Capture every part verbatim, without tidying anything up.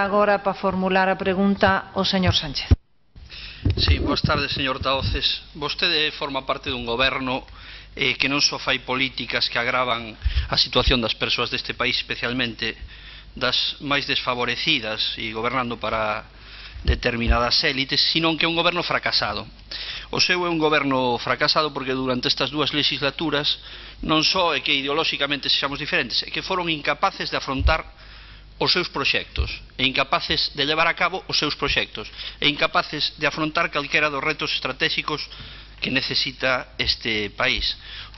Agora, para formular a pregunta, o señor Sánchez. Sí, boas tardes, señor Tahoces. Vostede forma parte dun goberno eh, que non só fai políticas que agravan a situación das persoas deste país, especialmente das máis desfavorecidas e gobernando para determinadas élites, sino que é un goberno fracasado. O seu é un goberno fracasado porque durante estas dúas legislaturas non só é que ideolóxicamente sexamos diferentes, é que foron incapaces de afrontar os seus proxectos, e incapaces de levar a cabo os seus proxectos, e incapaces de afrontar calquera dos retos estratégicos que necesita este país.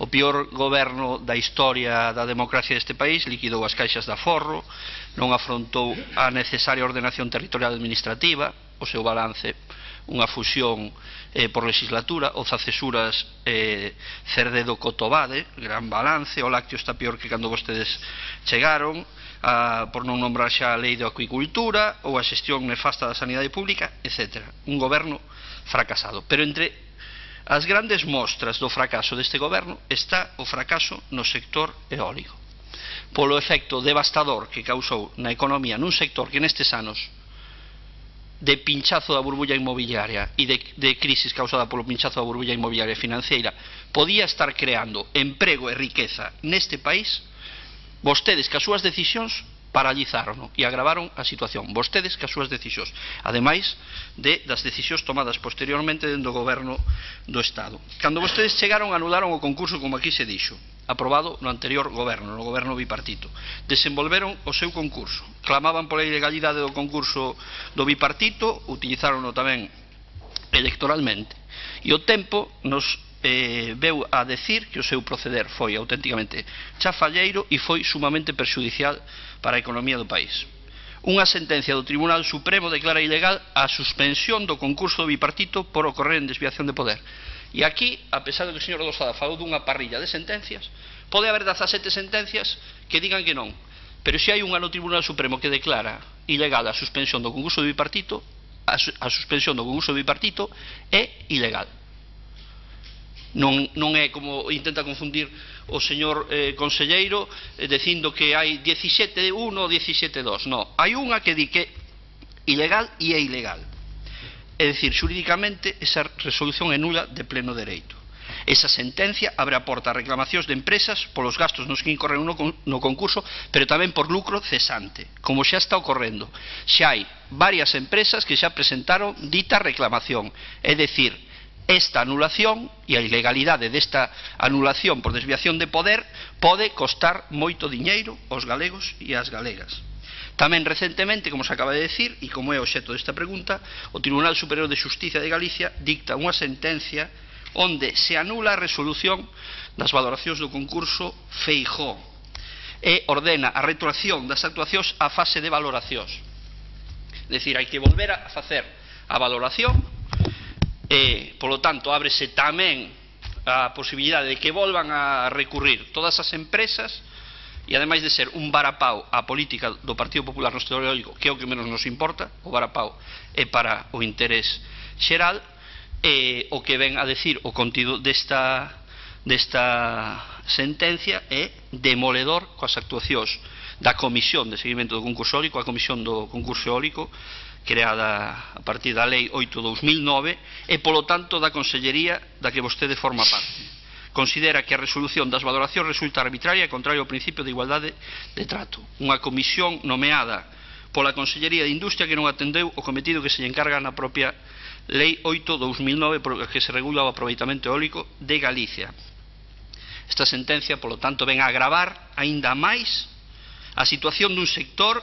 O pior goberno da historia da democracia deste país liquidou as caixas de aforro, non afrontou a necesaria ordenación territorial administrativa, o seu balance unha fusión eh, por legislatura, o Zacesuras eh, Cerdedo-Cotobade, gran balance, o lácteo está pior que cando vostedes chegaron, a, por non nombrar xa a lei de acuicultura ou a xestión nefasta da sanidade pública, etcétera. Un goberno fracasado. Pero entre as grandes mostras do fracaso deste goberno está o fracaso no sector eólico, polo efecto devastador que causou na economía nun sector que nestes anos de pinchazo da burbulla inmobiliaria e de, de crisis causada polo pinchazo da burbulla inmobiliaria financiera podía estar creando emprego e riqueza neste país. Vostedes, que as súas decisións, paralizaron e agravaron a situación. Vostedes, que as súas decisións, ademais de, das decisións tomadas posteriormente dentro do goberno do Estado. Cando vostedes chegaron, anularon o concurso, como aquí se dixo, aprobado no anterior goberno, no goberno bipartito. Desenvolveron o seu concurso, clamaban pola ilegalidade do concurso do bipartito, utilizárono tamén electoralmente. E o tempo nos eh, veu a decir que o seu proceder foi auténticamente chafalleiro e foi sumamente perxudicial para a economía do país. Unha sentencia do Tribunal Supremo declara ilegal a suspensión do concurso do bipartito por ocorrer en desviación de poder. E aquí, a pesar de que o señor Losada falou dunha parrilla de sentencias, pode haber dezasete sentencias que digan que non, pero se hai unha no Tribunal Supremo que declara ilegal a suspensión do concurso do bipartito, a, su a suspensión do concurso do bipartito é ilegal. Non, non é como intenta confundir o señor eh, conselleiro eh, dicindo que hai diecisiete uno ou diecisiete dos. Non, hai unha que di que ilegal e é ilegal. É dicir, xurídicamente esa resolución é nula de pleno dereito. Esa sentencia abre a porta a reclamacións de empresas polos gastos nos que incorren no, no concurso, pero tamén por lucro cesante, como xa está ocorrendo. Xa hai varias empresas que xa presentaron dita reclamación, é dicir, esta anulación e a ilegalidade desta anulación por desviación de poder pode costar moito diñeiro aos galegos e ás galegas. Tamén recentemente, como se acaba de decir, e como é o obxecto desta pregunta, o Tribunal Superior de Xustiza de Galicia dicta unha sentencia onde se anula a resolución das valoracións do concurso Feijóo e ordena a retroacción das actuacións á fase de valoracións. É dicir, hai que volver a facer a valoración. E, polo tanto, ábrese tamén a posibilidade de que volvan a recurrir todas as empresas e, ademais de ser un varapau a política do Partido Popular no sector eólico, que é o que menos nos importa, o varapau é para o interés xeral, e o que ven a decir o contido desta, desta sentencia é demoledor coas actuacións da Comisión de Seguimento do Concurso Eólico, a Comisión do Concurso Eólico, creada a partir da Lei oito barra dos mil nove e, polo tanto, da Consellería da que vostede forma parte. Considera que a resolución das valoracións resulta arbitraria e contraria ao principio de igualdade de trato. Unha comisión nomeada pola Consellería de Industria que non atendeu o cometido que se lle encarga na propia Lei oito barra dos mil nove por que se regula o aproveitamento eólico de Galicia. Esta sentencia, polo tanto, ven a agravar aínda máis a situación dun sector,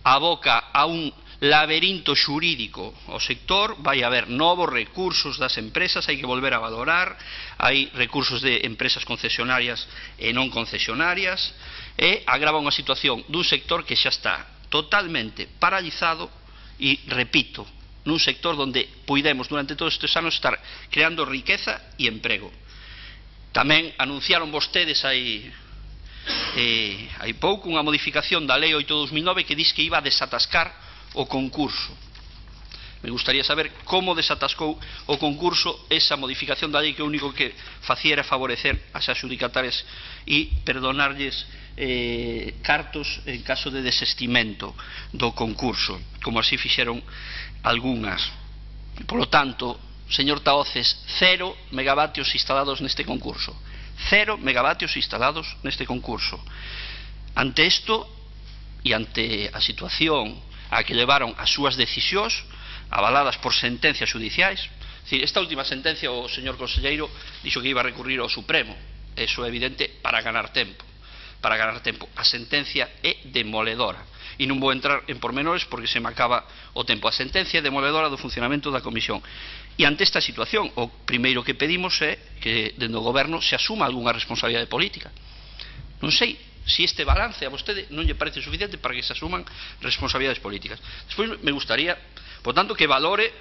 aboca a un laberinto xurídico o sector, vai haber novos recursos das empresas, hai que volver a valorar, hai recursos de empresas concesionarias e non concesionarias, e agrava unha situación dun sector que xa está totalmente paralizado e, repito, nun sector onde puidemos durante todos estes anos estar creando riqueza e emprego. Tamén anunciaron vostedes hai eh, hai pouco unha modificación da Lei oito barra dos mil nove que diz que iba a desatascar o concurso. Me gustaría saber como desatascou o concurso esa modificación da lei que o único que facía era favorecer as adxudicatarias e perdonarlles eh, cartos en caso de desestimento do concurso, como así fixeron algunhas. Por lo tanto, señor Tahoces, cero megavatios instalados neste concurso. Cero megavatios instalados neste concurso. Ante isto e ante a situación a que levaron as súas decisións avaladas por sentencias judiciais, esta última sentencia o señor conselleiro dixo que iba a recurrir ao Supremo. Eso é evidente para ganar tempo. Para ganar tempo. A sentencia é demoledora. E non vou entrar en pormenores porque se me acaba o tempo. A sentencia é demoledora do funcionamento da Comisión. E ante esta situación, o primeiro que pedimos é que dentro do Goberno se asuma algunha responsabilidade política. Non sei se este balance a vostede non lle parece suficiente para que se asuman responsabilidades políticas. Despois me gustaría, por tanto, que valore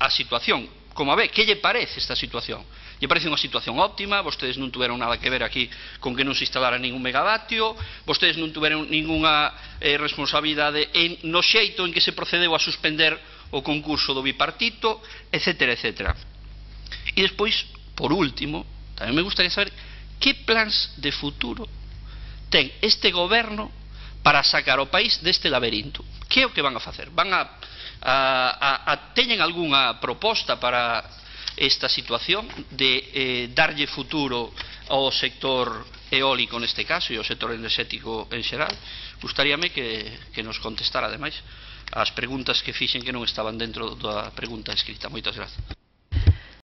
a situación. Como a ver, que lle parece esta situación? Lle parece unha situación óptima? Vostedes non tuveron nada que ver aquí con que non se instalara ningún megavatio? Vostedes non tuveron ninguna eh, responsabilidade en, no xeito en que se procedeu a suspender o concurso do bipartito, etcétera, etcétera. E despois, por último, tamén me gustaría saber que plans de futuro ten este goberno para sacar o país deste laberinto. Que é o que van a facer? Van a A, a, a, teñen algunha proposta para esta situación de eh, darlle futuro ao sector eólico neste caso e ao sector enerxético en xeral? Gustaríame que, que nos contestara ademais as preguntas que fixen que non estaban dentro da pregunta escrita. Moitas grazas.